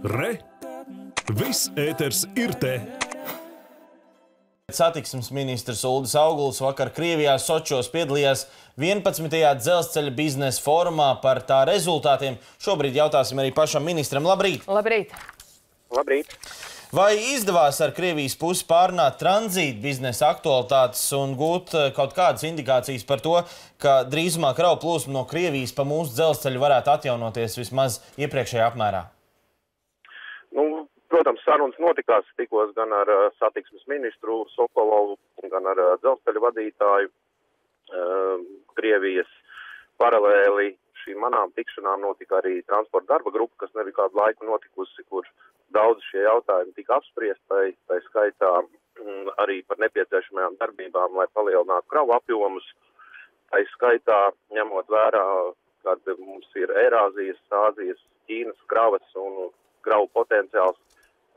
Re! Viss ēters ir te! Satiksmes ministrs Uldis Auguls vakar Krievijā Sočos piedalījās 11. dzelzceļa biznesa forumā par tā rezultātiem. Šobrīd jautāsim arī pašam ministram. Labrīt! Labrīt! Labrīt! Vai izdevās ar Krievijas pusi pārunāt tranzīta biznesa aktualitātes un gūt kaut kādas indikācijas par to, ka drīzumā kravu plūsma no Krievijas pa mūsu dzelzceļu varētu atjaunoties vismaz iepriekšējā apmērā? Protams, sarunas notikās tikos gan ar satiksmes ministru Sokolovu, gan ar dzelzceļa vadītāju Krievijas. Paralēli šīm manām tikšanām notika arī transporta darba grupa, kas nebija kādu laiku notikusi, kur daudz šie jautājumi tika apspriest, tai skaitā arī par nepieciešamajām darbībām, lai palielinātu kravu apjomus. Tai skaitā, ņemot vērā, kad mums ir Eirāzijas, Āzijas, Ķīnas kravas un kravu potenciāls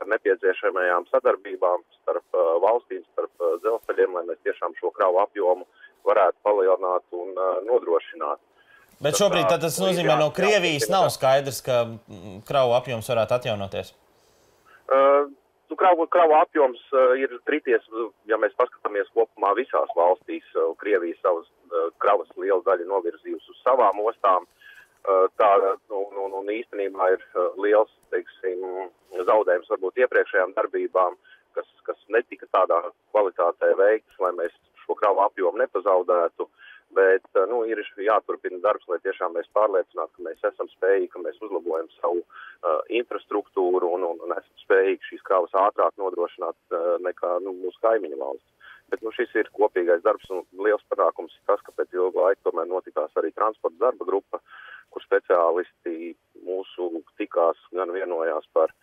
ar nepieciešamajām sadarbībām starp valstīm, starp dzelzceļiem, lai mēs tiešām šo kravu apjomu varētu palielināt un nodrošināt. Bet šobrīd tas nozīmē, no Krievijas nav skaidrs, ka kravu apjoms varētu atjaunoties? Kravu apjoms ir krities, ja mēs paskatāmies kopumā visās valstīs. Krievija savas kravas lielu daļu novirzījusi uz savām ostām. Un īstenībā ir liels, teiksim, zaudējums varbūt iepriekšējām darbībām, kas netika tādā kvalitātē veikts, lai mēs šo kravu apjomu nepazaudētu. Bet ir jāturpina darbs, lai tiešām mēs pārliecinātu, ka mēs esam spējīgi, ka mēs uzlabojam savu infrastruktūru un esam spējīgi šīs kravas ātrāk nodrošināt nekā mūsu kaimiņu valsts. Bet šis ir kopīgais darbs un liels panākums ir tas, ka pēc ilga laika tomēr notikās arī transporta darba grupa, kur speciālisti mūsu tikās gan vienojās par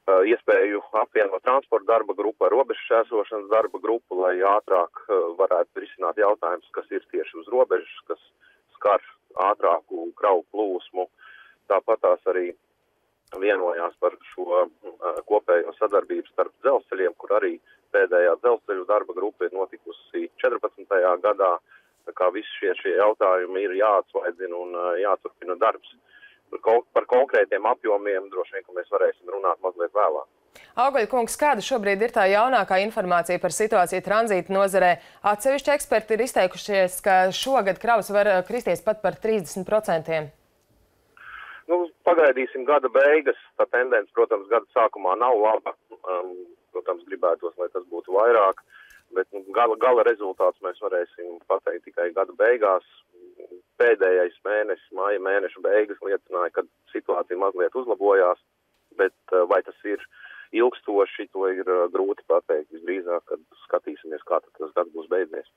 iespēju apvienot transporta darba grupu ar robežu šķērsošanas darba grupu, lai ātrāk varētu risināt jautājumus, kas ir tieši uz robežas, kas skar ātrāku kravu plūsmu. Tāpat tās arī vienojās par šo kopējo sadarbību starp dzelzceļiem, kur arī pēdējā dzelzceļu darba grupa ir notikusi 14. gadā. Tā kā visi šie jautājumi ir jāatsvaidzina un jāturpina darbs. Par konkrētiem apjomiem droši vien, ka mēs varēsim runāt mazliet vēlāk. Auguļa kungs, kāda šobrīd ir tā jaunākā informācija par situāciju tranzīta nozarē? Atsevišķi eksperti ir izteikušies, ka šogad kravas var kristies pat par 30%. Pagaidīsim gada beigas. Tā tendence, protams, gada sākumā nav laba. Protams, gribētos, lai tas būtu vairāk. Bet gala rezultāts mēs varēsim pateikt tikai gada beigās. Pēdējais mēnesis, māja mēneša beigas liecināja, ka situācija mazliet uzlabojās, bet vai tas ir ilgstoši, to ir grūti pateikt. Visdrīzāk, kad skatīsimies, kā tas gads būs beidzies.